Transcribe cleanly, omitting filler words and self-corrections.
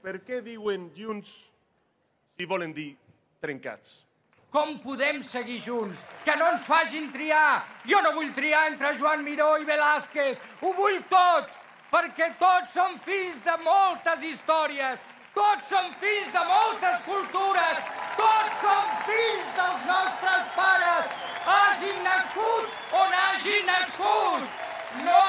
per què diuen junts si volen dir trencats? Com podem seguir junts? Que no ens facin triar! Jo no vull triar entre Joan Miró i Velázquez! Ho vull tot! Perquè tots som fills de moltes històries! Tots som fills de moltes cultures! Tots som fills dels nostres pares! Hagin nascut on hagin nascut! No